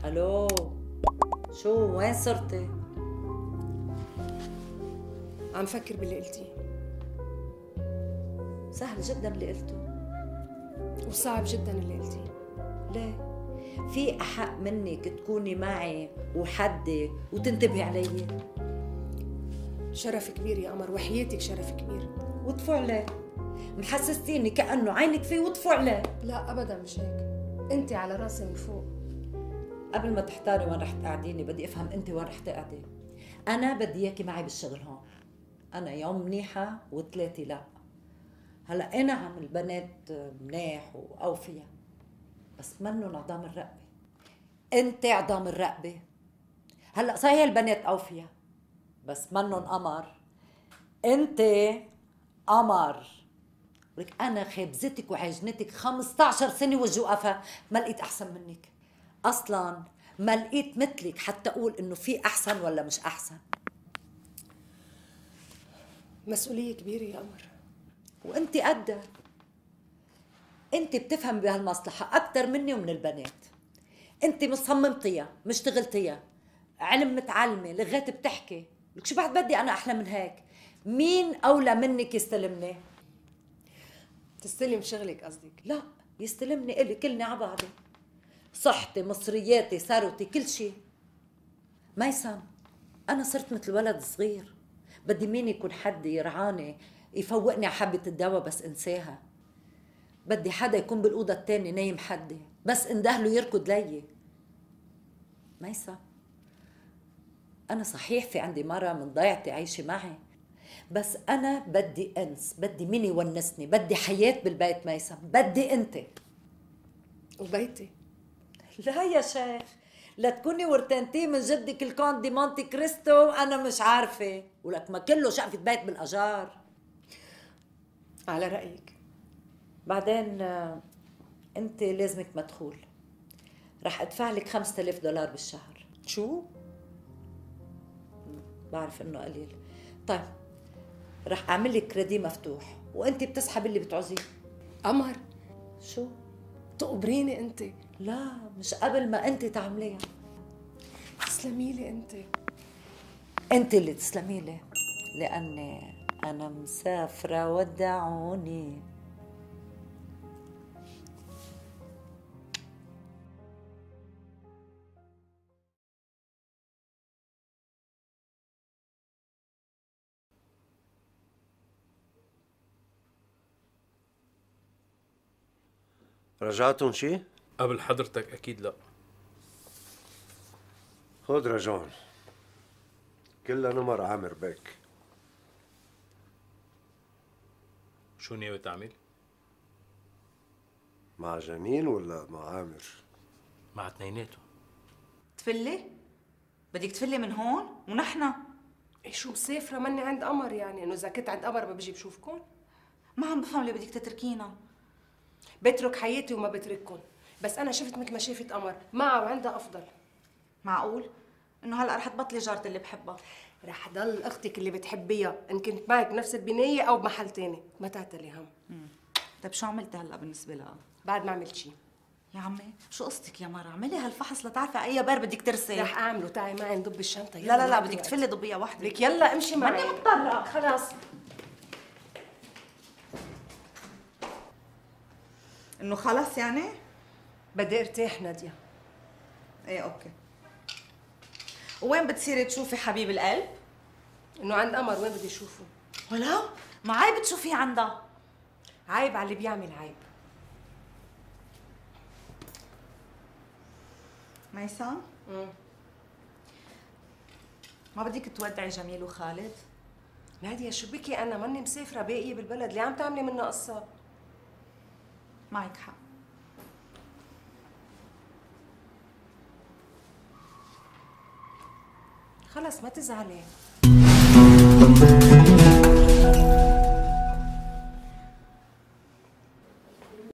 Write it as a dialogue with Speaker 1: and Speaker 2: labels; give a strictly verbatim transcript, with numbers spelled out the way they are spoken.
Speaker 1: الو، شو وين صرتي؟
Speaker 2: عم فكر باللي قلتيه.
Speaker 1: سهل جدا اللي قلته.
Speaker 2: وصعب جدا اللي قلتيه.
Speaker 1: ليه؟ في أحق منك تكوني معي وحدي وتنتبهي علي؟
Speaker 2: شرف كبير يا قمر، وحياتك شرف كبير.
Speaker 1: وطفوا عليه، محسستيني كأنه عينك فيه وطفوا عليه.
Speaker 2: لا أبدا مش هيك، أنت على راسي من فوق.
Speaker 1: قبل ما تحتاري وين رح تقعديني بدي أفهم أنت وين رح تقعدي. أنا بدي إياكي معي بالشغل هون. أنا يوم منيحة وثلاثة لا. هلا أنا عم البنات منيح وأوفياء، بس منن عظام الرقبة. أنت عظام الرقبة. هلا صحيح البنات أوفياء بس منن قمر. أنت قمر. ولك أنا خبزتك وعجنتك خمسة عشر سنة وجوقفة ما لقيت أحسن منك. أصلاً ما لقيت مثلك حتى أقول إنه في أحسن ولا مش أحسن.
Speaker 2: مسؤولية كبيرة يا قمر.
Speaker 1: وأنت قدها. أنت بتفهم بهالمصلحة أكثر مني ومن البنات. أنت مش صممتيها، مش اشتغلتيها، علم متعلمة، لغات بتحكي. لك شو بعد بدي أنا أحلى من هيك؟ مين أولى منك يستلمني؟
Speaker 2: تستلم شغلك قصدك؟
Speaker 1: لا، يستلمني إلي كلني على بعضي. صحتي، مصرياتي، ثروتي، كل شيء. ميسم، أنا صرت مثل ولد صغير. بدي مين يكون حد يرعاني يفوقني على حبة الدواء بس انساها. بدي حدا يكون بالأوضة التانية نايم حدي بس اندهله يركض لي. ميسم، أنا صحيح في عندي مرة من ضيعتي عايشة معي، بس أنا بدي أنس، بدي مين يونسني، بدي حياة بالبيت. ميسم، بدي أنت.
Speaker 2: وبيتي؟
Speaker 1: لا يا شيخ، لا تكوني ورتنتي من جدك الكونت دي مونتي كريستو. أنا مش عارفة، ولك ما كله شقفة بيت بالأجار.
Speaker 2: على رأيك.
Speaker 1: بعدين أنت لازمك مدخول. رح أدفع لك خمسة آلاف دولار بالشهر.
Speaker 2: شو؟
Speaker 1: بعرف إنه قليل. طيب رح أعمل لك كريدي مفتوح وأنت بتسحب اللي بتعوزيه.
Speaker 2: قمر،
Speaker 1: شو؟
Speaker 2: تقبريني أنت؟
Speaker 1: لا، مش قبل ما أنت تعمليها.
Speaker 2: تسلمي لي أنت.
Speaker 1: أنت اللي تسلمي لي، لأني أنا مسافرة ودعوني.
Speaker 3: رجعتن شي؟
Speaker 4: قبل حضرتك أكيد لا.
Speaker 3: خد رجعن كلها نمر عامر بيك.
Speaker 4: شو ناوي تعمل؟
Speaker 3: مع جميل ولا مع عامر؟
Speaker 4: مع اثنيناتهم.
Speaker 5: تفلي؟ بدك تفلي من هون ونحن؟
Speaker 2: إيه شو مسافرة مني عند قمر، يعني إنه إذا كنت عند قمر ما بجي بشوفكم؟
Speaker 5: ما عم بفهم ليه بدك تتركينا.
Speaker 2: بترك حياتي وما بترككم، بس أنا شفت مثل ما شافت قمر معها وعندها أفضل.
Speaker 5: معقول؟ إنه هلا رح تبطلي جارتي اللي بحبها.
Speaker 2: رح ضل أختك اللي بتحبيها إن كنت معك بنفس البناية أو بمحل تاني، ما تعتلي هم.
Speaker 5: امم طيب شو عملتي هلا بالنسبة لها؟
Speaker 2: بعد ما عملت شي.
Speaker 5: يا عمي شو قصتك يا مرة؟ اعملي هالفحص لتعرفي أي بار بدك ترسي.
Speaker 2: رح أعمله، تعي معي نضب الشنطة.
Speaker 5: لا لا لا بدك تفلي ضبية واحدة.
Speaker 2: لك يلا امشي معي.
Speaker 5: ماني مضطرة.
Speaker 2: خلاص.
Speaker 5: إنه خلص يعني؟
Speaker 2: بدي ارتاح نادية.
Speaker 5: ايه اوكي. وين بتصيري تشوفي حبيب القلب؟
Speaker 2: انه عند قمر، وين بدي اشوفه؟
Speaker 5: ولو ما عيب تشوفيه عندها.
Speaker 2: عيب على اللي بيعمل عيب.
Speaker 5: ميسم؟
Speaker 2: امم
Speaker 5: ما بدك تودعي جميل وخالد؟
Speaker 2: نادية شو بكي، انا ماني مسافرة باقية بالبلد، ليه عم تعملي منا قصة؟
Speaker 5: معك حق.
Speaker 2: خلص ما تزعلي.